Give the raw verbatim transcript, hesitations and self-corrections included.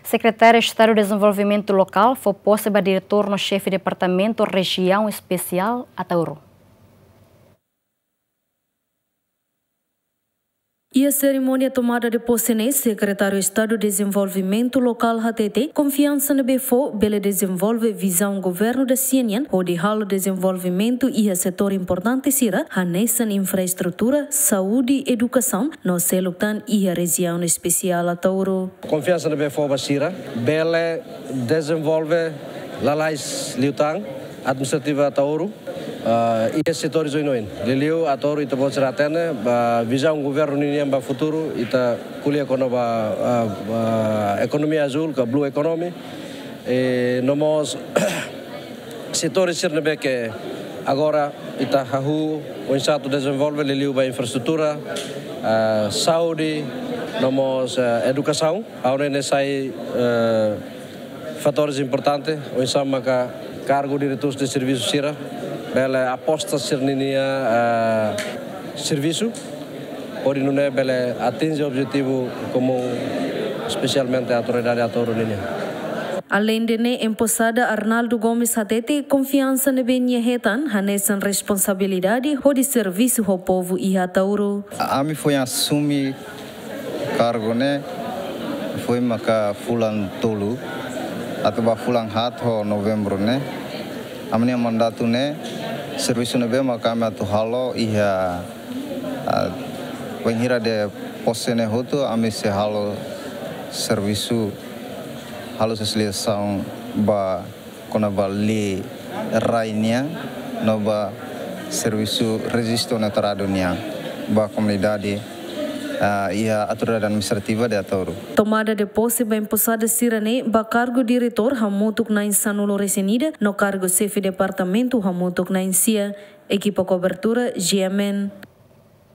Sekretáriu Estadu Dezenvolvimentu Lokál fó pose ba diretór no xefe Departamentu Rejiaun Espesiál Ataúro. Iha serimónia tomada de pose ne'e, Sekretáriu Estadu Dezenvolvimentu Lokál hatete konfiansa ne'ebé fó bele dezenvolve vizaun governu da-sia nian hodi halo dezenvolvimentu iha setór importante sira hanesan infraestrutura, saúde, edukasaun no seluk tan iha Rejiaun Espesiál Ataúro. Konfiansa ne'ebé fó ba sira bele dezenvolve lalais liután administrativa Ataúro, ah, iha setór oioin. Liuliu Ataúro ita-boot sira hatene ba vizaun governu ninian ba futuru, ita ko'alia kona-ba, ah, ah, ekonomia azúl ka blue economy. E no mós setór sira ne'ebé ke agora ita hahú oinsá atu dezenvolve, liuliu ba infraestrutura, ah, saúde, no mós, ah, edukasaun. Ha'u hanoin ne'e sai, eh, fatores importante, oinsá maka kargu diretór de servisu sira bele aposta sira-nia, eh, servisu hodi nune'e bele atinje objetivu komún, espesialmente autoridade Ataúro nian. Aleinde ne'e, emposada Arnaldo Gomes hatete konfiansa ne'ebé nia hetan hanesan responsabilidade hodi servisu ho povu iha Ataúro. Ami foin asume kargu ne'e foin maka fulan tolu, atu ba fulan haat ho Novembru ne'e. Ami-nia mandatu ne'e, servisu ne'ebé maka ami atu halo iha, ah, bainhira de pose ne'e hotu, ami sei halo servisu, halo sosializasaun ba kona-ba lei rai nian, no ba servisu rejistu no teradu nian ba komunidade, ah, iha autoridade administrativa de Ataúro. Tomada de pose ba emposada sira-ne'e ba kargu diretór hamutuk na'in sanulu-resin-ida no kargu xefe departamentu hamutuk na'in sia. Ekipa kobertura, G M N.